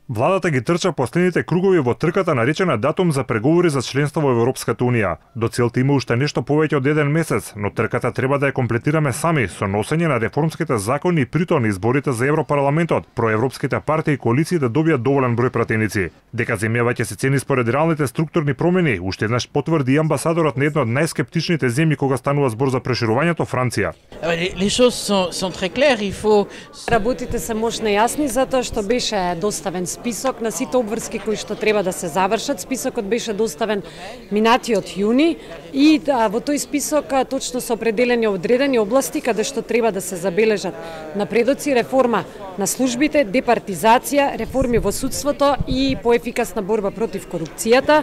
Владата ги трча последните кругови во трката наречена датум за преговори за членство во Европската унија. До целта има уште нешто повеќе од еден месец, но трката треба да ја комплетираме сами со носење на реформските закони и притоа на изборите за Европарламентот, проевропските партии и коалиции да добијат доволен број пратеници. Дека земјава ќе се цени според реалните структурни промени, уште еднаш потврди и амбасадорот на една од најскептичните земји кога станува збор за проширувањето, Франција. Работите се мощно јасни затоа што беше доставен список на сите обврски кои што треба да се завршат. Списокот беше доставен минатиот јуни и во тој список точно се определени одредени области каде што треба да се забележат напредоци, реформа на службите, департизација, реформи во судството и поефикасна борба против корупцијата.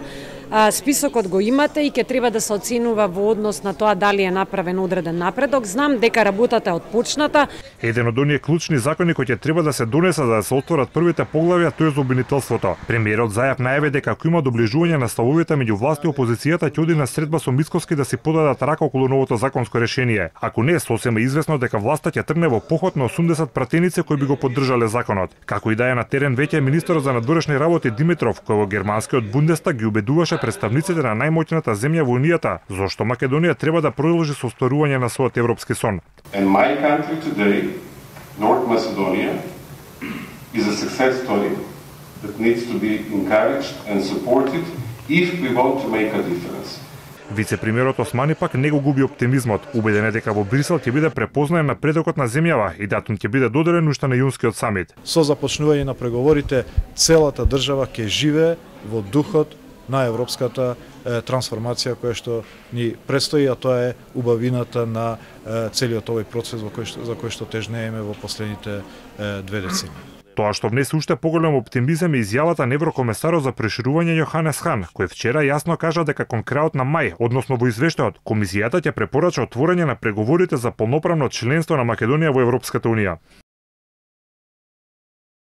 Списокот го имате и ќе треба да се оценува во однос на тоа дали е направен одреден напредок. Знам дека работата е отпочната. Еден од оние клучни закони кои ќе треба да се донесат за да се отворат првите поглавја, тој е за обвинителството. Премиерот Заев најави дека ако има доближување на ставовите меѓу власт и опозицијата, ќе оди на средба со Мицкоски да си подадат рака околу новото законско решение. Ако не, сосема известно дека власта ќе тргне во поход на 80 пратеници кои би го поддржале законот. Како и да е на терен веќе министерот за надворешни работи Димитров, кој во германскиот Бундестаг ги убедуваше представниците на најмоќната земја во Унијата, зошто Македонија треба да продолжи со остварување на својот европски сон. And my country today, North Macedonia, is a success story that needs to be encouraged and supported if we want to make a difference. Вице-премиерот Османи пак не го губи оптимизмот, убеден е дека во Брисел ќе биде препознаен напредокот на земјава и датум ќе биде доделен уште на јунскиот самит. Со започнување на преговорите, целата држава ќе живее во духот на европската трансформација која што ни предстои, а тоа е убавината на целиот овој процес за кој што тежнееме во последните 2 децени. Тоа што внесе уште поголем оптимизам е изјавата на еврокомесарот за проширување Јоханес Хан, кој вчера јасно кажа дека кон крајот на мај, односно во извештајот, комисијата ќе препорача отворање на преговорите за полноправно членство на Македонија во Европската унија.